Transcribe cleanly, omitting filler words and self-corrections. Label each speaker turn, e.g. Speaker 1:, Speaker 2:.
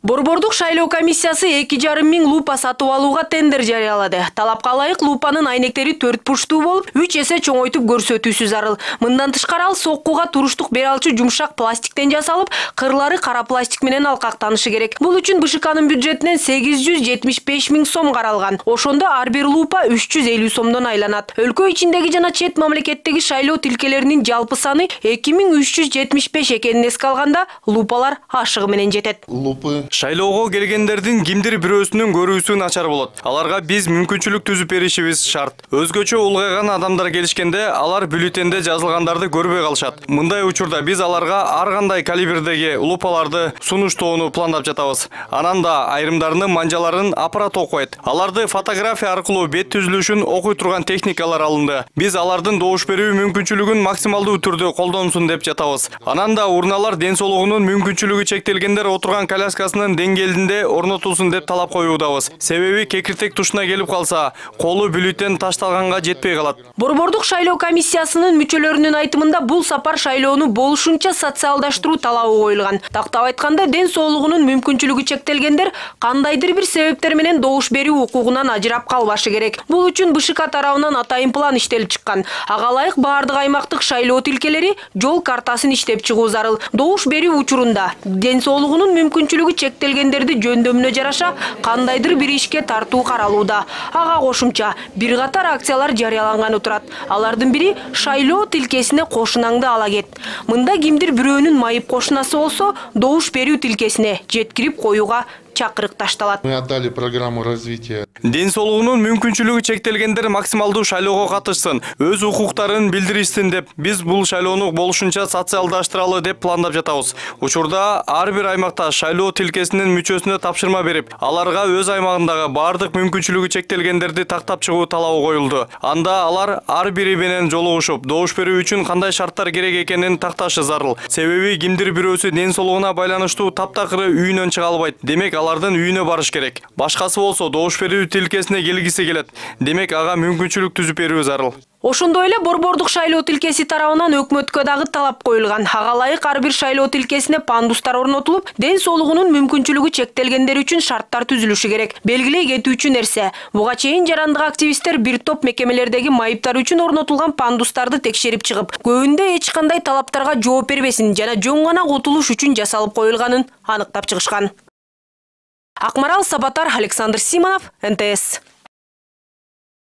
Speaker 1: Борбордук шайлоо комиссиясы 2,5 миң лупа сатып алууга тендер жарыялады. Талапка ылайык лупанын айнектери 4 бурчтуу болуп, 3 эсе чоңойтуп көрсөтүүсү зарыл. Мындан тышкары ал соккуга туруштук бере алчу жумшак пластиктен жасалып, кырлары кара пластик менен алкактанышы керек. Бул үчүн БШКнын бюджетинен 875 миң сом каралган. Ошондо ар бир лупа 350 сомдон айланат. Өлкө ичиндеги жана чет мамлекеттеги шайлоо тилкелеринин жалпы саны 2375 экенин эске алганда, лупалар ашыгы менен жетет.
Speaker 2: Шайлоого келгендердин кимдир бирөөсүнүн көрүүсү начар болот. Аларга биз мүмкүнчүлүк түзүп беришибиз шарт. Өзгөчө улгайган адамдар келишкенде алар бюллетенде жазылгандарды көрбөй калышат. Мындай учурда биз аларга ар кандай калибрдеги лупаларды сунуштоону пландап жатабыз. Анан да айрымдарынын манжаларын аппарат окуйт. Аларды фотография аркылуу бет түзүлүшүн окуй турган техникалар алынды. Биз алардын добуш берүү мүмкүнчүлүгүн максималдуу түрдө колдонсун деп жатабыз. Анан да урналар ден соолугунун мүмкүнчүлүгү чектелгендер отурган коляскасынын деңгээлинде орнотулсун деп талап коюудабыз. Себеби кекиртек тушуна келип калса, колу бюллетен ташталганга жетпей калат.
Speaker 1: Борбордук шайлоо комиссиясынын мүчөлөрүнүн айтымында бул сапар шайлоону болушунча социалдаштыруу талабы коюлган. Тактап айтканда, ден соолугунун мүмкүнчүлүгү чектелгендер кандайдыр бир себептер менен добуш берүү укугунан ажырап калбашы керек. Бул үчүн БШК тарабынан атайын план иштелип чыккан. Ага ылайык баардык аймактык шайлоо тилкелери жол картасын иштеп чыгуу зарыл. Добуш берүү учурунда ден соолугунун мүмкүнчүлүгү чектелгендерди жөндөмүнө жараша кандайдыр бир ишке тартуу каралууда. Ага кошумча бир катар акциялар жарыяланганы турат. Алардын бири шайлоо тилкесине кошунаңды ала кет. Мында кимдир бирөөнүн майып кошунасы болсо, добуш берүү тилкесине жеткирип коюуга чакырык ташталат.
Speaker 3: Мы отдали программу развития.
Speaker 2: Ден соолугунун мүмкүнчүлүгү чектелгендер максималдуу шайлоого катышсын, өз укуктарын билдиришсин деп биз бул шайлоону болушунча социалдаштыралы деп пландап жатабыз. Учурда ар бир аймакта шайлоо тилкесинин мүчөсүнө тапшырма берип, аларга өз аймагындагы баардык мүмкүнчүлүгү чектелгендерди тактап чыгуу талабы коюлду. Анда алар ар бири менен жолугушуп, добуш берүү үчүн кандай шарттар керек экенин такташы зарыл. Себеби кимдир бирөөсү ден соолугуна байланыштуу таптакыры үйүнөн чыга албайт. Демек алардын үйүнө барыш керек. Башкасы болсо добуш берүү тилкесине келгиси келет. Демек ага мүмкүнчүлүк түзүп берүү зарыл.
Speaker 1: Ошондой эле борбордук шайлоо тилкеси тарабынан өкмөткө дагы талап коюлган. Ага ылайык ар бир шайлоо тилкесине пандустар орнотулуп, ден соолугунун мүмкүнчүлүгү чектелгендер үчүн шарттар түзүлүшү керек. Белгилей кетүүчү нерсе, буга чейин жарандык активисттер бир топ мекемелердеги майыптар үчүн орнотулган пандустарды текшерип чыгып, көбүндө эч кандай талаптарга жооп бербесин жана жөн гана кутулуш үчүн жасалып коюлганын аныктап чыгышкан. Акмарал Сабатар, Александр Симонов, НТС.